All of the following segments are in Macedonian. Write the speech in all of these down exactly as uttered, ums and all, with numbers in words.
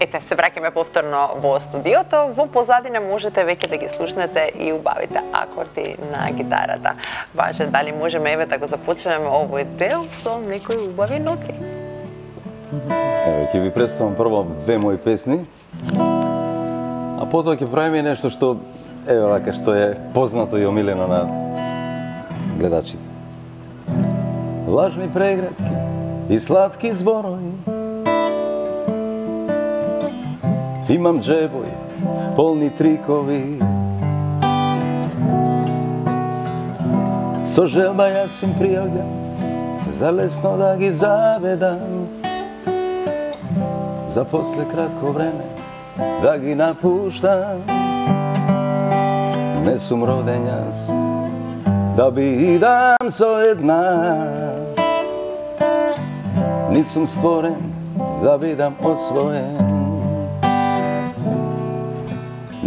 Ете, се враќаме повторно во студиото. Во позадина можете веќе да ги слушнете и убавите акорди на гитарата. Важе, дали можеме еве да го започнеме овој дел со некои убави ноти? Еве, ќе ви представам прво две мои песни, а потоа ќе правиме нешто што, еве вака, што е познато и омилено на гледачите. Влажни преградки и сладки зборови, имам джебови, полни трикови. Со желба јас им пријавljam, за лесно да ги заведам, за после кратко време да ги напуштам. Не сум роден јас да бидам со една, нит сум створен да бидам освоен.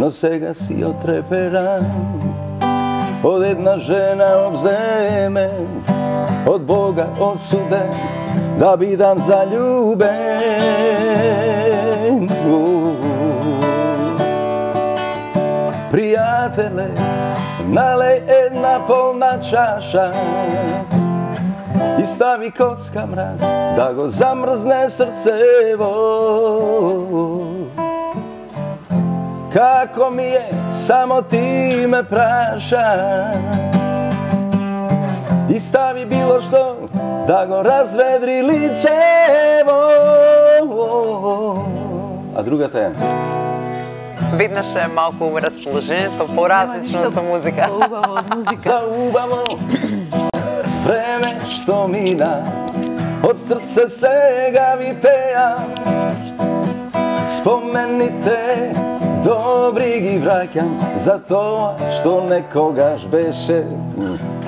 Но сега си отреперам од една жена обземен, од Бога осуден да бидам заљубен. Пријателе, налеј една полна чаша и стави коцка мраз да го замрзне срцево. Како ми е, само ти ме праша, и стави било што да го разведри лицево. А другата е? Виднаш е малку расположението, поразлично со музика. Убаво од музика. За убаво време што мина, од срце сега ви пеам. Спомените добри ги враќам, за тоа што некогаш беше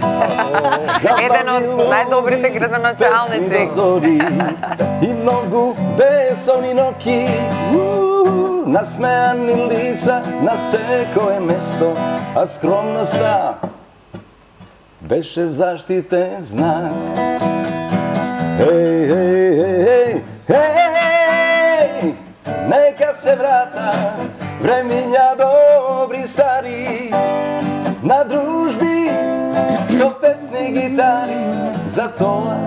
еден од најдобрите градоначалници. И многу бесони ноки, насмеани лица на секое место, а скромноста беше заштитен знак. Еј, еј, еј, еј, нека се врата времиња добри стари, на дружби со песни гитари, за тоа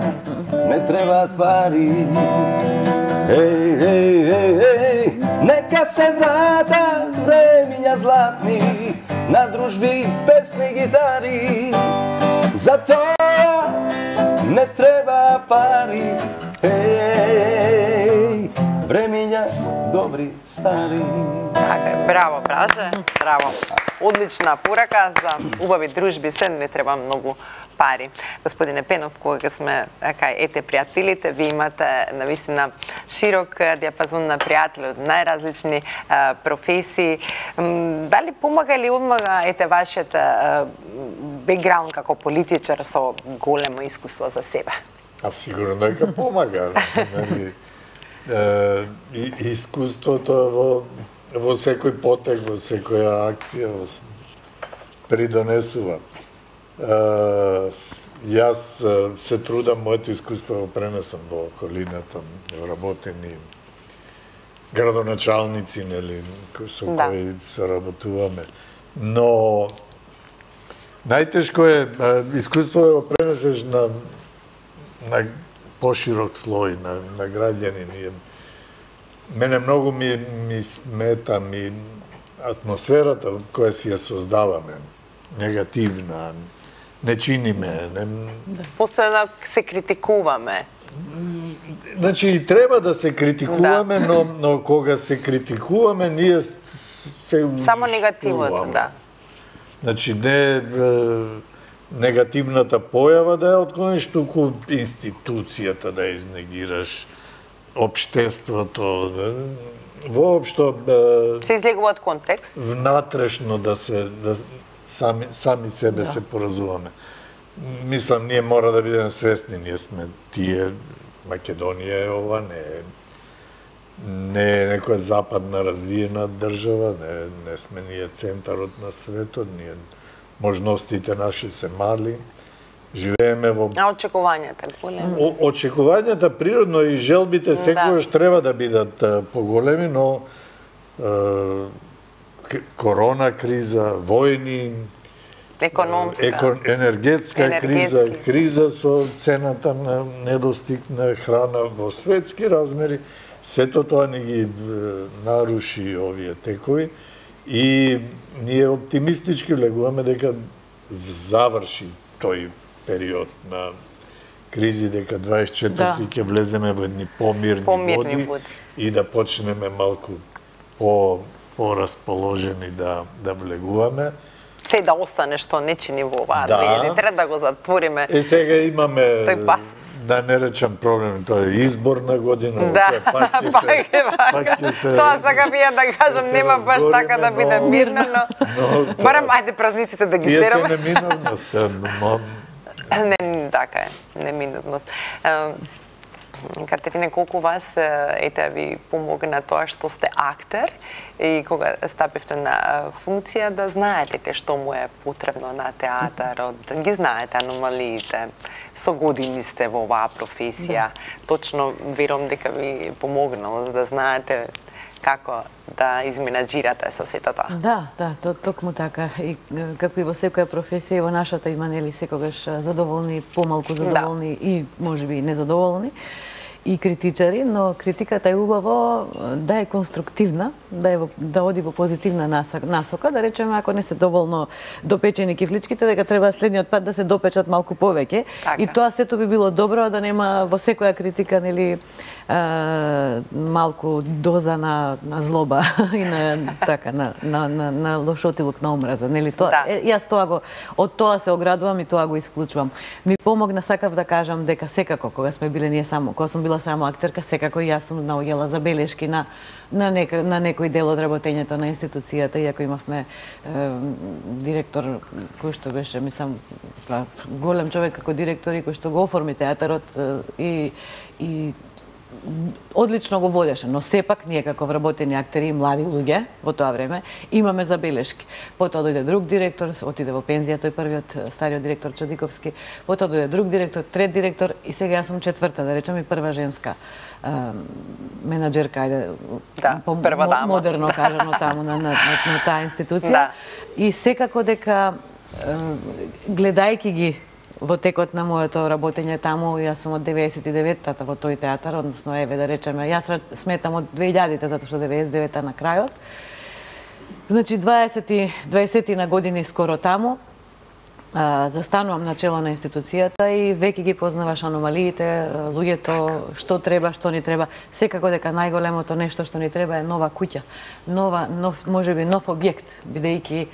не требаат пари. Еј, еј, еј, еј, нека се врата времиња златни, на дружби песни гитари, за тоа не треба пари. Еј, времиња добри стари. Така е, браво, Браже, браво. Одлична порака за убави дружби, се не треба многу пари. Господине Пенов, кога сме така ете пријателите, ви имате навистина широк диапазон на пријатели од најразлични а, професии. М, дали помага или одмага ете вашиот бекграунд како политичар со големо искуство за себе? А сигурно дека помага. Нели? И искуството во во секој потек, во секоја акција придонесува. Јас се трудам моето искуство го пренесам во околината, работени градоначалници, нели, со да. кои се работуваме. Но најтешко е искуство да го пренесеш на на поширок слој на на граѓани. Мене многу ми ми смета ми атмосферата која си ја создаваме, негативна, не чиниме, не... Постојано се критикуваме. Значи, треба да се критикуваме, да. но, но кога се критикуваме, ние се уништуваме. Само негативното, да. Значи, не негативната појава да ја отклониш, туку институцијата да ја изнегираш, општеството, воопшто се излегува од контекст. Внатрешно да се да сами сами себе да. се поразумеме. Мислам, ние мора да бидеме свесни, ние сме тие, Македонија е ова, не е не е некоја западна развиена држава, не, не сме ние центарот на светот, ние можностите наши се мали, живееме во... А очекувањата големи? О, очекувањата природно и желбите секогаш да. треба да бидат поголеми, но е, корона криза, војни, економска, еко, енергетска енергетски. криза, криза со цената на недостиг на храна во светски размери, сето тоа не ги наруши овие текови и ние оптимистички влегуваме дека заврши тој период на кризи, дека дваесет и четврти ќе да. влеземе во едни помирни, помирни води, води и да почнеме малку по порасположени да да влегуваме. Се да остане што не чини во оваа да. две илјади и трета да го затвориме. Е сега имаме тој пасус. Да не речам проблем, тоа е изборна година, да. пак ќе се пак ќе се тоа сакам ја да кажам, нема баш така да биде мирно, но, но барам ајде празниците да ги стераме. Тие се неминовност, но не така е, неминовност. Катерина, колку вас ете ви помогна тоа што сте актер и кога стапивте на функција да знаете што му е потребно на театарот, да ги знаете аномалиите, со години сте во оваа професија, да. Точно верувам дека ви помогнало за да знаете како да изменаџирате со сето тоа. Да, да, то, токму така. И како и во секоја професија, и во нашата има нели секогаш задоволни, помалку задоволни да. И можеби незадоволни и критичари, но критиката е убаво да е конструктивна, да е да оди во позитивна насока, да речеме ако не се доволно допечени кифличките, дека треба следниот пат да се допечат малку повеќе. Така. И тоа сето би било добро да нема во секоја критика нели Uh, малку доза на, на злоба и на така на на на, на лошотилок на омраза, нели тоа? Да. Е, јас тоа го од тоа се оградувам и тоа го исклучувам. Ми помогна, сакав да кажам дека секако кога сме биле ние само, кога сум била само актерка, секако и јас сум наоѓала забелешки на на нек, на некој дел од работењето на институцијата, иако имавме е, директор кој што беше, мислам, голем човек како директор и кој што го оформи театарот е, и и одлично го водеше, но сепак ние како вработени актери и млади луѓе во тоа време имаме забелешки. Потоа дојде друг директор, отиде во пензија тој првиот стариот директор Чадиковски, потоа дојде друг директор, трет директор и сега јас сум четврта, да речем и прва женска е, менаџерка, ајде да, по, прва дама. Модерно кажано таму на, на, на, на таа институција. Да. И секако дека е, гледајќи ги во текот на моето работење таму, јас сум од деветдесет и деветта во тој театар, односно еве да речеме, јас сметам од две илјадите затоа што деветдесет и девета на крајот. Значи дваесет на години скоро таму, а, застанувам на чело на институцијата и веќе ги познаваш аномалиите, луѓето, што треба, што ни треба. Секако дека најголемото нешто што ни треба е нова куќа, нова, нов, можеби нов објект, бидејќи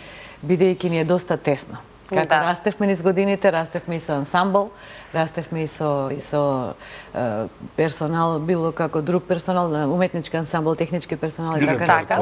бидејќи ни е доста тесно. Како да. Растевме низ годините, растевме и со ансамбл, растевме и со, и со е, персонал, било како друг персонал, уметнички ансамбл, технички персонал и така така.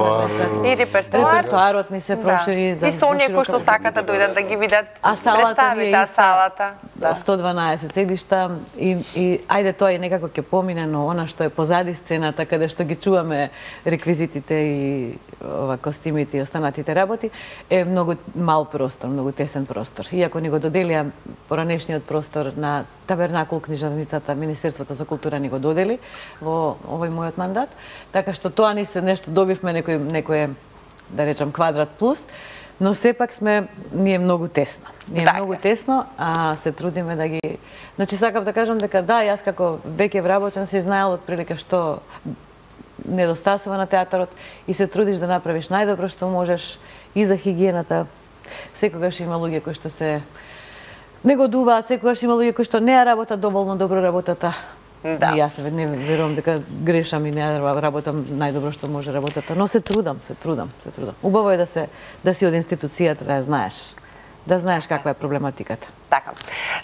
И репертоар. Репертоарот ни се прошири. Да. И со оние кои што сакат да дојдат да ги видат представите, а салата. Да. сто дванаесет седишта и, и ајде тоа и некако ќе помине, но она што е позади сцената, каде што ги чуваме реквизитите и ова костимите и останатите работи, е многу мал простор, многу тесен простор. Иако ни го доделија поранешниот простор на Табернакул книжарницата, Министерството за култура ни го додели во овој мојот мандат, така што тоа ни се нешто добивме некој некој да речам квадрат плюс, но сепак сме ние многу тесно. Ние така. Многу тесно, а се трудиме да ги Значи сакав да кажам дека да, јас како веќе вработен се знаел отприлика што недостасува на театарот и се трудиш да направиш најдобро што можеш и за хигиената. Секогаш има луѓе кои што се негодуваат, секогаш има луѓе кои што не ја работат доволно добро работата. Да. И јас не верувам дека грешам и не работам најдобро што може работата, но се трудам, се трудам, се трудам. Убаво е да се да си од институцијата, да ја знаеш, да знаеш каква е проблематиката. Така.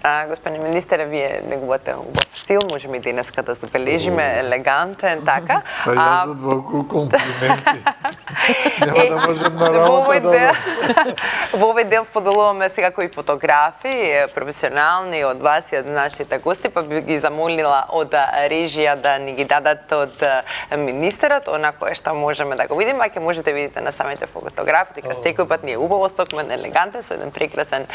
А, господин министер, вие негувате убав стил, можеме и денеска да забележиме елегантен, така. Па јас од волку комплименти. Нема да можем на работа да... Во овој дел споделуваме сега кои фотографии, професионални од вас и од нашите гости, па би ги замолила од режија да ни ги дадат од министерот, она кое што можеме да го видиме, а ќе можете да видите на самите фотографии, дека секој пат ни е убаво стокмен, елегантен, со еден прекрасен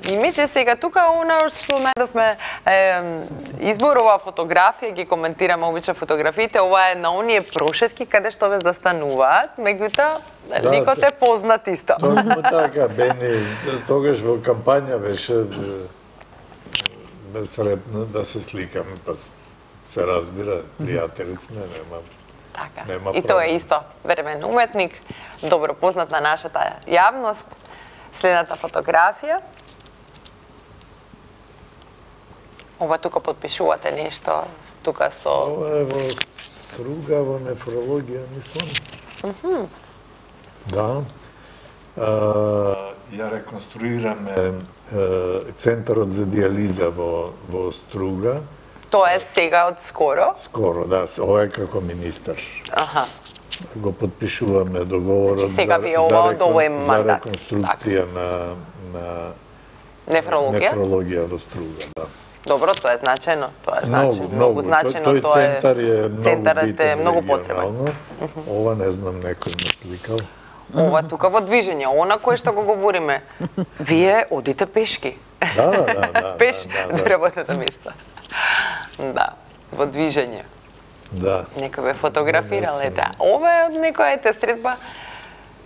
имидж. И сега тука она што најдовме изборова фотографија, ги коментираме обично фотографиите, ова е на оние прошетки каде што ве застануваат, меѓутоа ликот е познат исто. Точно така, Бени, тогаш во кампања беше сретно да се сликаме, па се разбира, пријатели сме, нема. Така. Нема и тоа е исто времен уметник, добро познат на нашата јавност. Следната фотографија. Ова тука подпишувате нешто, тука со... Ова е во Струга, во нефрологија, мислам. Mm -hmm. Да. А, ја реконструираме центарот за диализа во, во Струга. Тоа е сега од скоро? Скоро, да. Ова е како министер. Аха. Го подпишуваме договорот значи, сега за, ова за, рекон, за за реконструкција на, на нефрологија? нефрологија во Струга, да. Добро, тоа е значајно, тоа е многу, значајно, многу значајно, тој, тој тоа е... центар е многу центарот битен е многу потребен. Uh -huh. Ова не знам, некој ме сликал. Ова тука во движење, она кое што го говориме. Вие одите пешки. Да, да, да. да Пеш да, до да. работното место. Да, во движење. Да. Некој ве фотографирал, ете. Ова е од некоја ете средба.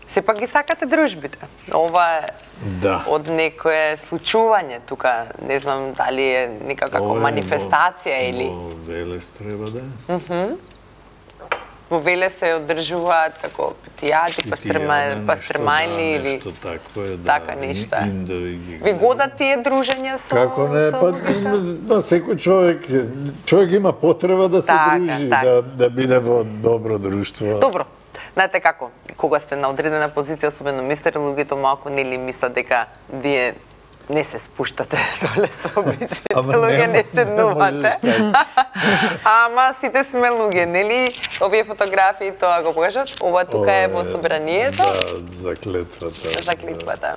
Сепак ги сакате дружбите. Ова е да. од некое случување тука, не знам дали е некако манифестација или... Во Велес треба да е. Mm -hmm. Во Велес се одржуваат како питијади, пастрмајни или... Нешто такво е, да. Така нешто е. Индови... Ви годат тие дружења со... Како не, па да, секој човек, човек има потреба да се така, дружи, така. да, да биде во добро друштво. Добро. Знаете како, кога сте на одредена позиција, особено мистер, луѓето малку нели мислат дека вие не се спуштате доле со обичните луѓе, не седнувате. Ама сите сме луѓе, нели? Овие фотографии тоа го покажат. Ова тука е во собранието. Да, за клетвата. За клетвата.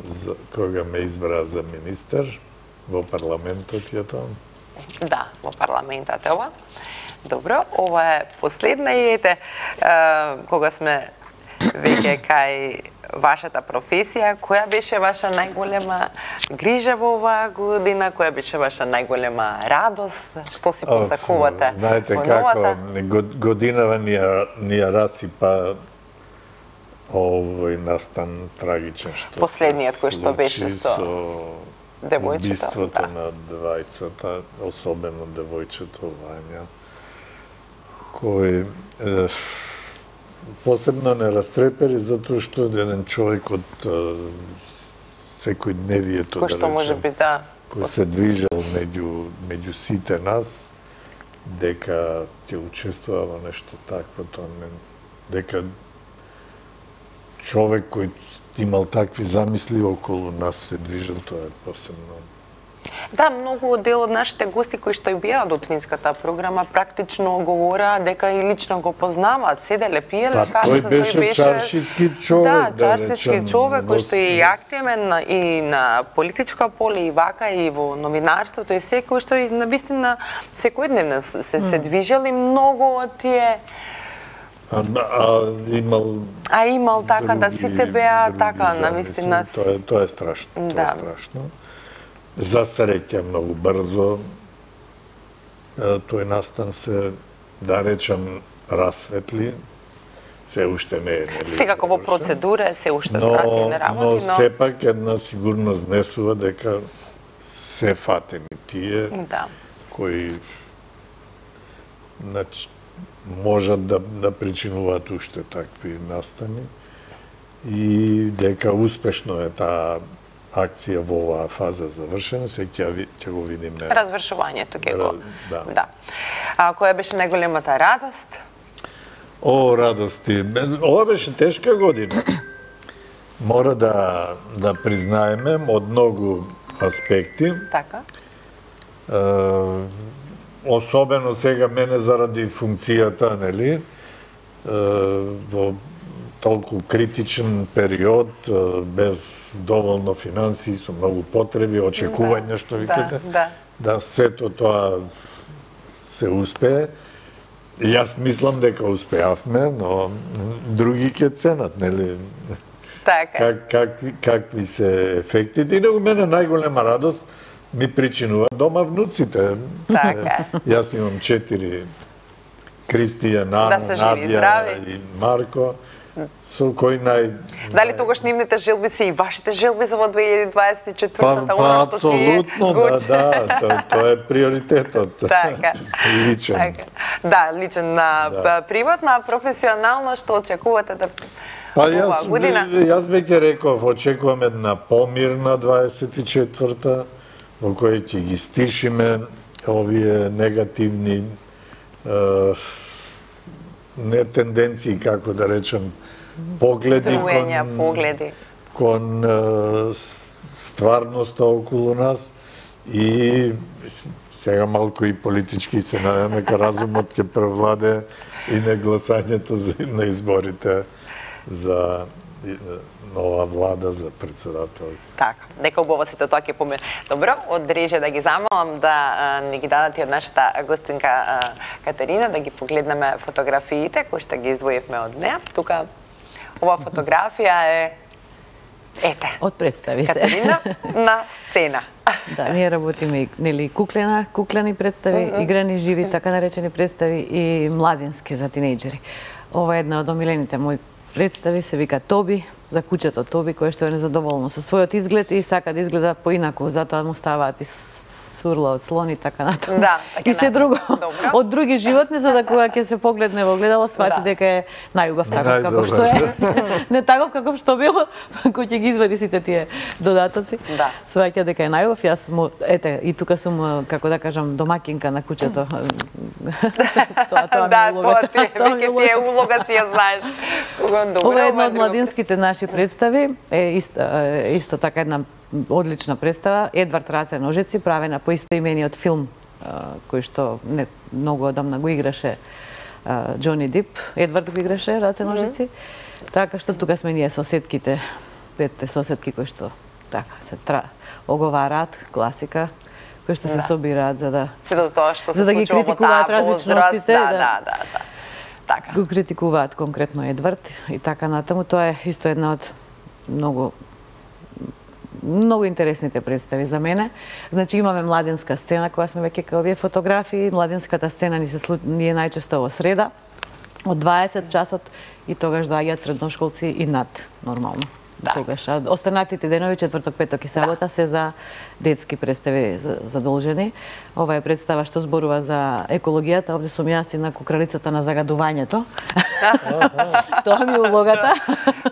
За, кога ме избра за министер, во парламентот е тоа. Да, во парламентот е ова. Добро, ова е последна и ете, кога сме веќе кај вашата професија, која беше ваша најголема грижа во оваа година, која беше ваша најголема радост, што си посакувате? Знаете како, годинава ни ја, ни ја расипа овој настан трагичен што последниот кој што беше со, со девојчето, убиството да. на двајцата, особено девојчето Вања, кој е, посебно не растрепери затоа што еден човек од секојдневието, кој што да може би да кој се движел меѓу меѓу сите нас, дека ќе учествува во нешто такво, тоа не, дека човек кој имал такви замисли околу нас се движел, тоа е посебно. Да, многу дел од нашите гости кои што и беа од Утвинската програма практично говораа дека и лично го познаваат, седеле, пиеле кафе. Тој беше, беше чаршиски човек, да, да чаршиски речем, човек кој што е и с... активен и на политичка поле и вака и во новинарството и секој што и навистина секојдневно се, се движел и многу од тие А, а имал А имал така други, да сите беа така навистина. Тоа е тоа е страшно, тоа да. е страшно. За среќа многу брзо тој настан се, да речам, расветли. Се уште не е, нели? Секако во процедура, се уште трати не работи, но... Но сепак една сигурност внесува дека се фатени тие да. кои значи, можат да, да причинуваат уште такви настани и дека успешно е таа акција во оваа фаза завршена, се ќе ќе го видиме. Развршувањето ќе го. Да. да. А која беше најголемата радост? О, радости. Ова беше тешка година. Мора да да признаеме од многу аспекти. Така. Uh, особено сега мене заради функцијата, нели, во толку критичен период, без доволно финансии, со многу потреби, очекувања, што викате, да, да. да сето тоа се успее. И јас мислам дека успеавме, но други ќе ценат, нели? Така. Как, какви, какви се ефектите. И него мене најголема радост ми причинува дома внуците. Така. Јас имам четири: Кристија, Нана, Да се живи и Надја здрави. и Марко, со кој нај... Дали тогаш нивните желби се и вашите желби за во две илјади дваесет и четвртата? Па, па апсолутно, да, да, тоа, тоа е приоритетот. Така. Личен. Така. Да, личен на Да. приватно, а професионално што очекувате да Па оваа јас, година? јас веќе реков, очекувам една помирна дваесет и четврта, во која ќе ги стишиме овие негативни е, не тенденции, како да речем, погледи Струења, кон, погледи. кон е, стварноста околу нас и сега малку и политички се надеваме дека разумот ќе превладе и на гласањето за, на изборите за нова влада, за председател. Така, нека убаво сите тоа ќе помине. Добро, од реже да ги замолам да а, ни ги дадат и од нашата гостинка а, Катерина, да ги погледнеме фотографиите кои што ги издвоивме од неа. Тука ова фотографија е ете. Од представи се. Катерина на сцена. Да, ние работиме нели куклена, куклени представи, uh -huh. играни живи, така наречени представи и младински за тинејџери. Ова е една од омилените мои представи, се вика Тоби, за кучето Тоби, кое што е незадоволно со својот изглед и сака да изгледа поинаку, затоа му ставаат и сурла од слон и така натаму. Да, така и се друго. Добро. Од други животни, за да кога ќе се погледне во огледало, свати Да. дека е најубав таков Најдобар. како што е. Не таков каков што било, кој ќе ги извади сите тие додатоци. Да. Сваќа дека е најубав. Јас му, ете, и тука сум, како да кажам, домакинка на кучето. тоа, тоа ми Да, е тоа улогата. ти е, Тоа ми веќе е ти е улога, си ја знаеш. Добро, Ова е една од друго. младинските наши представи, е исто, е исто така една одлична представа. Едвард Раце ножици, правена по истоимениот филм кој што не многу одамна го играше Џони Дип. Едвард го играше Раце ножици. Mm -hmm. Така што тука сме ние соседките, петте соседки кои што така се тра, оговараат, класика, кои што се Да. собираат за да Сето тоа што се за да ги случува во таа критикуваат возраст, различностите, да, да. да, да, да. Така. го критикуваат конкретно Едвард и така натаму. Тоа е исто една од многу многу интересните представи за мене. Значи имаме младинска сцена која сме веќе кај овие фотографии. Младинската сцена ни се слу... ни е најчесто во среда од дваесет часот и тогаш доаѓаат средношколци и над нормално. Да. Тогаш а останатите денови четврток, петок и сабота да. се за детски представи задолжени. Ова е представа што зборува за екологијата. Овде сум јас и на кукралицата на загадувањето. Тоа ми е улогата.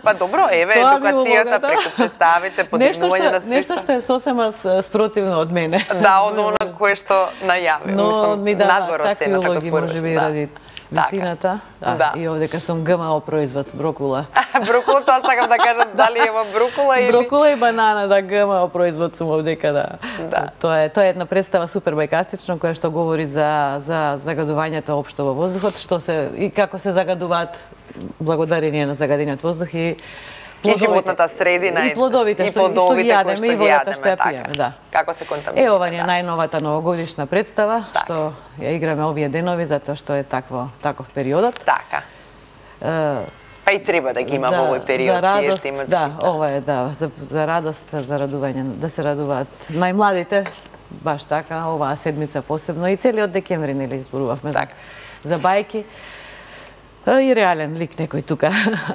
Па добро, еве Тоа ми е едукацијата улогата. преку представите, подигнување на свеста. Нешто што е сосема спротивно од мене. Да, од она кое што најави. Но Мислам, ми дава надвор од такви сцената, улоги, како може би, да. ради висината. Да. Да. И овдека сум ГМО производ, брокула. Брокула, тоа сакам да кажам, дали е во брокула или... Брокула и банана, да, ГМО производ сум овдека, да. Да. Тоа е, тоа е една представа супер бајкастична, која што говори за, за загадувањето општо во воздухот, што се, и како се загадуваат благодарение на загадениот воздух и И животната средина и плодовите, и што, и што ги плодовите кои јадеме што и ги водата јадеме, што ја така. пиеме, да. Како се контаминира. Е, ова ни е да. најновата новогодишна представа, Така. што ја играме овие денови, затоа што е такво, таков периодот. Така. Е, Па и треба да ги има во овој период. за радост, тие тематски, да, ова е, да, за, за радост, за радување, да се радуваат најмладите, баш така, оваа седмица посебно и целиот декември, нели, зборувавме за, Така. за бајки. И реален лик некој тука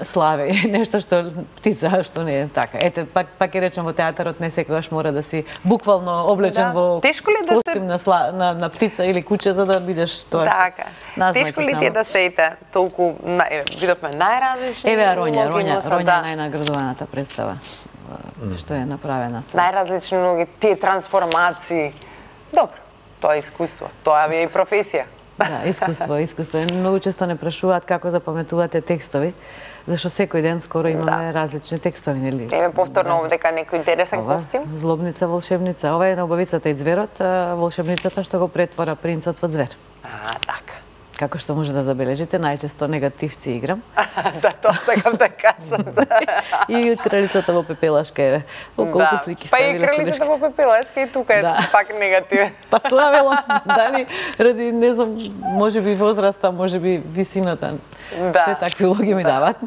слави, нешто што птица, што не е така. Ете, пак, пак ќе речем, во театарот не секогаш мора да си буквално облечен Да. во Тешко ли да се- костим на, сла, на, на птица или куче за да бидеш тоа. Така. Назнаки Тешко ли само. ти е да се ете толку, на- еве, видовме најразлични Еве Роња, улоги, Роња, но са, Роња да, најнаградуваната представа што е направена со. најразлични улоги, тие трансформации. Добро, тоа е искуство, тоа ви е и професија. Да, искуство, искуство. Многу често не прашуваат како запаметувате текстови, зашто секој ден скоро имаме да. различни текстови, нели? Еве повторно овдека некој интересен Ова, костим. Злобница, волшебница. Ова е на Убавицата и ѕверот, волшебницата што го претвора принцот во звер. А, така. Како што може да забележите, најчесто негативци играм. Да, тоа сакам да кажам. И кралицата во пепелашка, еве. Колку да. слики па ставиле. Па и кралицата во пепелашка и тука е да. пак негативен. Па тоа велам, дали, ради, не знам, може би возраста, може би висината. Да. Се такви улоги ми дават.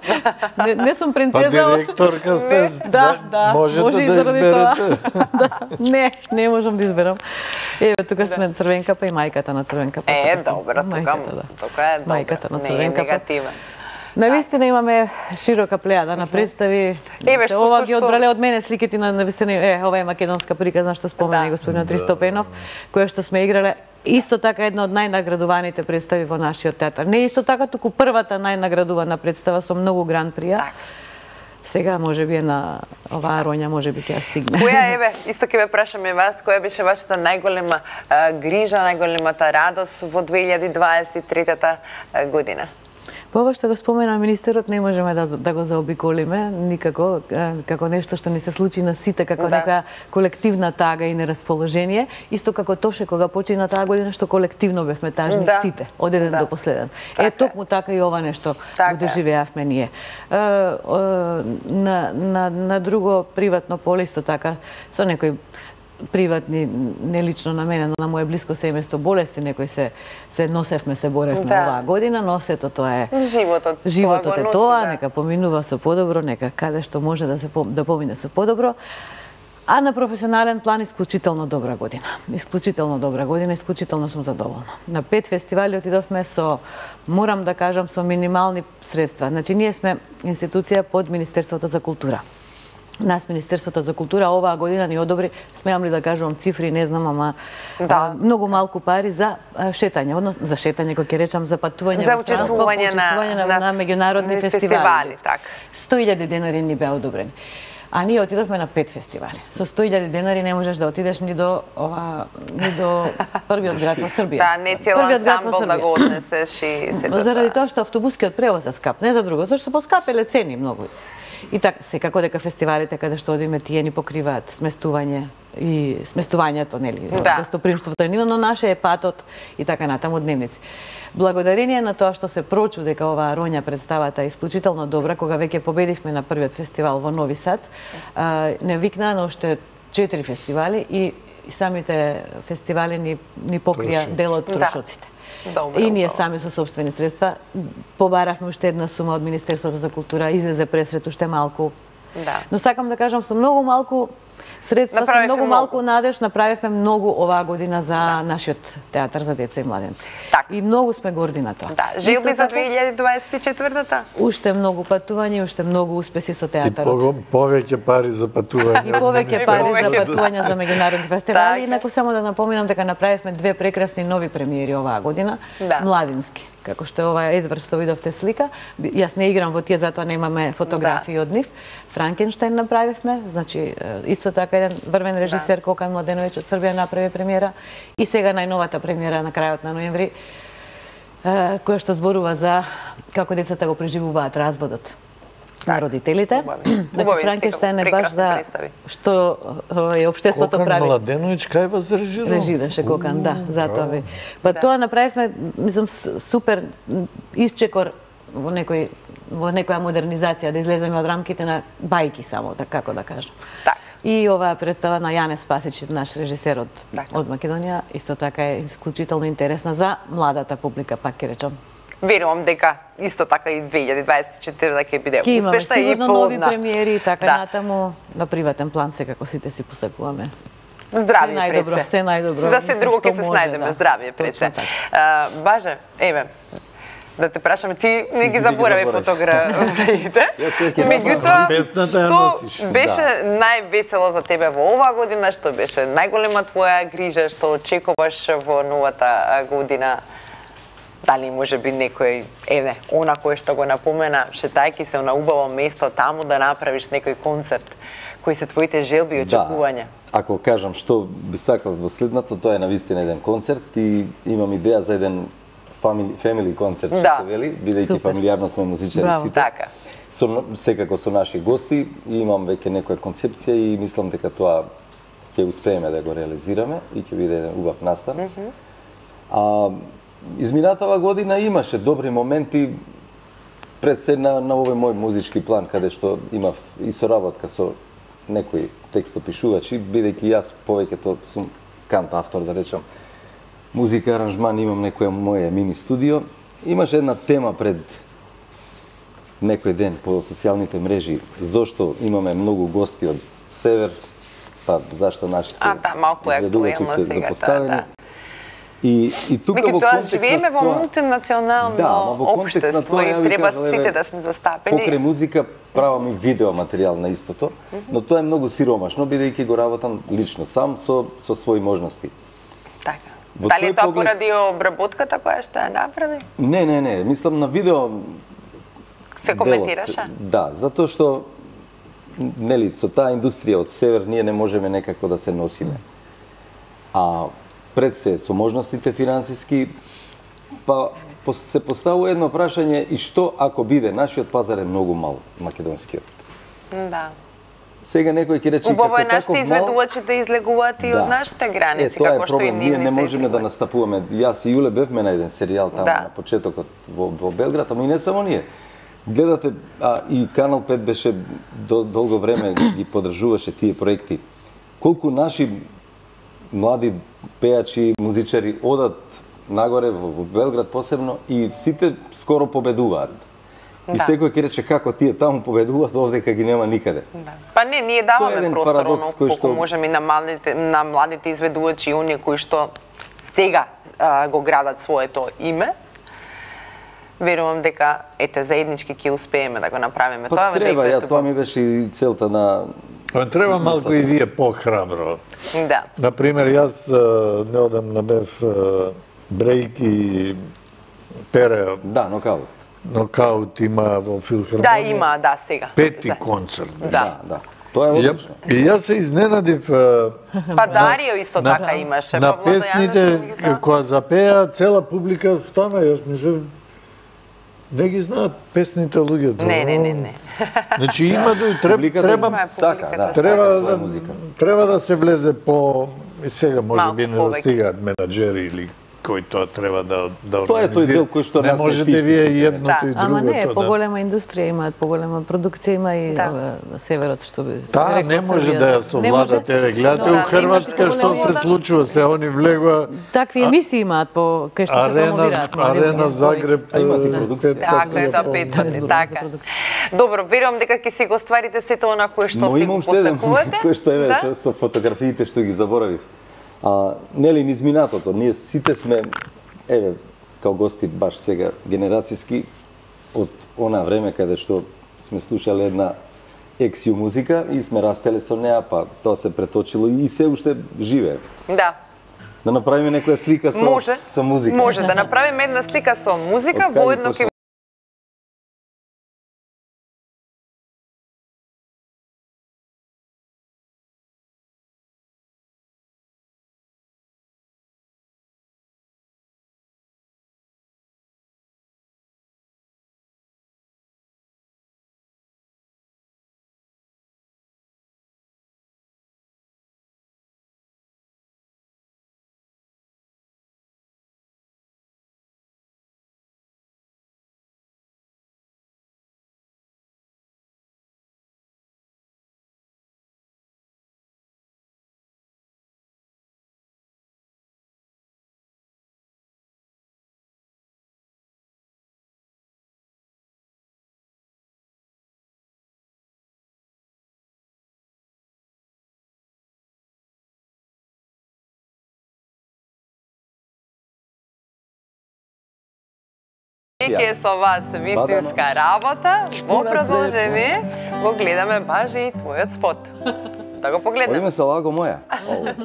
Не, не сум принцеза. Па директорка сте, да, да, можете може да изберете. да, не, не можам да изберам. Еве, тука сме Црвенкапа и мајката на Црвенкапа. Е, добро, тука, да. тука е добро. Мајката на не Црвенкапа. е негативен. Навистина имаме широка плејада на представи. Еве, што ова со ги што... одбрале од мене сликите на навистина. Е, ова е македонска приказна што спомена да. господин Тристо Пенов, која што сме играле. Исто така една од најнаградуваните представи во нашиот театар. Не исто така, туку првата најнаградувана представа со многу гран-прија. Так. Сега може би е на оваа роња, може би ќе стигне. Која еве, исто ќе ве прашаме вас, која беше вашата најголема а, грижа, најголемата радост во две илјади дваесет и трета година? По ова што го спомена министерот, не можеме да, да го заобиколиме никако, како нешто што ни се случи на сите, како да. некоја колективна тага и нерасположение, исто како Тоше кога почина таа година што колективно бевме тажни да. сите, од еден да. до последен. Така е, токму така и ова нешто така го доживеавме ние. Е, е, на, на, на друго приватно поле исто така, со некој приватни, не лично на мене, но на моје блиско семејство болести, некои се се носевме, се боревме да. оваа година, но сето тоа е животот. Животот тоа е носи, тоа, да. нека поминува со подобро, нека каде што може да се да помине со подобро. А на професионален план исклучително добра година. Исклучително добра година, исклучително сум задоволна. На пет фестивали отидовме со, морам да кажам, со минимални средства. Значи ние сме институција под Министерството за култура. Нас Министерството за култура оваа година ни одобри, смеам ли да кажувам цифри, не знам, ама да. а, многу малку пари за а, шетање, односно за шетање, кој ќе речам за патување за учествување на, на, на, на меѓународни фестивали. фестивали так. сто илјади денари ни беа одобрени. А ние отидовме на пет фестивали. Со сто илјади денари не можеш да отидеш ни до ова, ни до првиот град во Србија. Да, не цел ансамбл да го однесеш и се да. Заради тоа што автобускиот превоз е скап, не за друго, зашто поскапеле цени многу. И така, секако дека фестивалите каде што одиме тие ни покриваат сместување и сместувањето, нели, да. гостопримството е ниво, но наше е патот и така натаму дневници. Благодарение на тоа што се прочу дека оваа роња представата е исклучително добра, кога веќе победивме на првиот фестивал во Нови Сад, не викнаа на уште четири фестивали и самите фестивали ни, ни покрија дел од трошоците. Добро, и ние добро. сами со собствени средства побаравме уште една сума од Министерството за култура, излезе пресрет уште малку. Да. Но сакам да кажам, со многу малку средства, со многу малку надеж направивме многу оваа година за да. нашиот театар за деца и младенци. Так. И многу сме горди на тоа. Да, желби за две илјади дваесет и четвртата? Уште многу патување, уште многу успеси со театарот. И повеќе пари за патување. И повеќе пари за патување за меѓународни фестивали. Инаку само да напоменам дека направивме две прекрасни нови премиери оваа година, да. младински. Како што е ова Едвард што видовте слика. Јас не играм во тие, затоа немаме фотографии да. од нив. Франкенштајн направивме, значи исто така еден врвен режисер да. Кокан Младеновиќ од Србија направи премиера. И сега најновата премиера на крајот на ноември, која што зборува за како децата го преживуваат разводот на родителите. Значи Франкенштајн е баш за што е општеството прави. Кокан Младеновиќ кај вас режирал? Режираше Кокан, да, затоа ви. Па тоа направивме, мислам, супер исчекор во некој во некоја модернизација, да излеземе од рамките на бајки само, така како да кажам. Так. И оваа представа на Јане Спасич, наш режисер од, од Македонија, исто така е исклучително интересна за младата публика, пак ќе речам. Верувам дека исто така и две илјади дваесет и четвртата ќе биде успешна и плодна. Нови премиери и така да. натаму, на приватен план секако сите си посакуваме. Здравје пред се. Се најдобро. За се друго ќе се снајдеме, да. здравје пред се. Баже, еве, да те прашаме, ти не ги заборави фотографиите. Меѓутоа, што беше највесело за тебе во оваа година, што беше најголема твоја грижа, што очекуваш во новата година? Дали може би некој, еве, она кој што го напомена, шетајки се на убаво место таму да направиш некој концерт, кои се твоите желби и очекувања? Да, ако кажам што би сакал во следното, тоа е навистина еден концерт и имам идеја за еден family, family концерт, што Да. се вели, бидејќи фамилиарно сме музичари Браво. сите. Така. Со, секако со наши гости и имам веќе некоја концепција и мислам дека тоа ќе успееме да го реализираме и ќе биде еден убав настан. Mm -hmm. А изминатава година имаше добри моменти пред се на, на овој мој музички план, каде што имав и соработка со некои текстопишувачи, бидејќи јас повеќето сум кант автор, да речам, музика, аранжман, имам некоја моја мини студио. Имаше една тема пред некој ден по социјалните мрежи, зошто имаме многу гости од север, па зашто нашите А, да, малку е изведувачи актуелно се сега, запоставени. да, да. И, и тука во Меѓутоа, контекст живееме во тоа- мултинационално Да, ама во контекст на општество тоа, и ја ви треба кажам, сите еве, да сме застапени. Покрај музика правам и видео материјал на истото, но тоа е многу сиромашно, бидејќи го работам лично сам со со своји можности. Така. Во Дали тој е тоа поглед- поради обработката која што ја направи? Не, не, не, мислам на видео Се коментираше? делот. Да, затоа што нели со таа индустрија од север ние не можеме некако да се носиме. А пред се со можностите финансиски, па пос- се поставува едно прашање и што ако биде нашиот пазар е многу мал, македонскиот. Да. Сега некој ќе рече Убаво е како нашите таков мал- изведувачи да излегуваат и од нашите граници, Е, тоа е како што и проблем. Ние нивните не можеме да излегуваат. настапуваме. Јас и Јуле бевме на еден серијал таму Да. на почетокот во, во Белград, ама и не само ние. Гледате, а и Канал пет беше до, долго време ги поддржуваше тие проекти. Колку наши млади пејачи, музичари одат нагоре во, во Белград посебно и сите скоро победуваат. И Да. секој ќе рече како тие таму победуваат, овдека ги нема никаде. Да. Па не, ние Тоа е даваме еден простор парадокс оно кој колку што- можеме и на младите на младите изведувачи и оние кои што сега а, го градат своето име. Верувам дека ете заеднички ќе успееме да го направиме Па тоа. треба, дека ја ете тоа во- ми беше и целта на Па треба малку и вие похрабро. Да. Например, јас а, неодамна бев а, брейк и Пере да, нокаут. нокаут има во филхармонија. Да, има, да, сега. Пети За- концерт. Да. Да, да. Тоа е И ја- одлично. И јас се изненадив а, Па Дарио исто на- така имаше. на па Владо песните Јанешев, да. која запеа, цела публика стана, јас мислам, не ги знаат песните луѓето. Не, не, не, не. Значи има да треба Публиката треба Има е сака, публиката, да, треба сака своја да, музика. треба да се влезе по и сега може Малку би не повеќе. достигаат менаџери или кои тоа треба да да Тоа е тој организира. дел кој што не нас не можете тишти вие сите. и едното Да. и Ама не, другото. да. поголема индустрија имаат, поголема продукција има и Да. ова, на северот што би се Таа рекла не може Србија. да ја Не совладате. може. Еве, гледате Но, у да, Хрватска имаше што се голема- случува, се они влегува Такви емисии имаат по кај што се Арена, промовираат. Арена Загреб. А имате е, продукција. пет Така е, пати за по- пет Не пати, зборувам за така. продукција. Добро, верувам дека ќе си го стварите сето она кое што Но си имам го уште еден посакувате. кој што еве Да? со, со фотографиите што ги заборавив. А нели низ минатото, ние сите сме еве као гости баш сега генерацијски од она време каде што сме слушале една ексју музика и сме растеле со неа, па тоа се преточило и се уште живее. Да. Да направиме некоја слика со Може. со музика. Може да направиме една слика со музика, Од кај воедно почна? ќе Ќе со вас вистинска работа, во Пуна продолжение го гледаме баш и твојот спот. Да го погледнеме. Оиме се лаго моја. Ово.